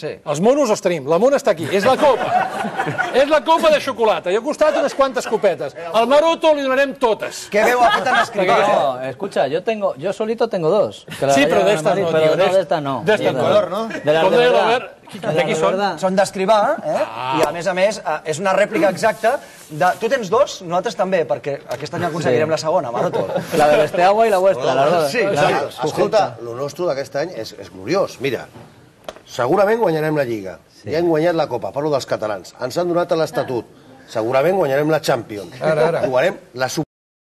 Els monos els tenim, la mona està aquí, és la copa. És la copa de xocolata. I al costat unes quantes copetes. Al Maroto li donarem totes. ¿Qué veo aquí tan escrito? No, escucha, yo solito tengo dos. Sí, pero de estas no, pero de estas no. De estas color, no? De las Com de deia verdad. l'Albert, de qui són? Són d'escrivar, i a més, és una rèplica exacta de... Tu tens dos, nosaltres també, perquè aquest any aconseguirem la segona, Maroto. La de Besteagua i la vuestra, las dos. Sí, exacte. Escolta, el nostre d'aquest any és gloriós. Mira, segurament guanyarem la Lliga. Ja hem guanyat la Copa, parlo dels catalans. Ens han donat l'Estatut. Segurament guanyarem la Champions. Jugarem la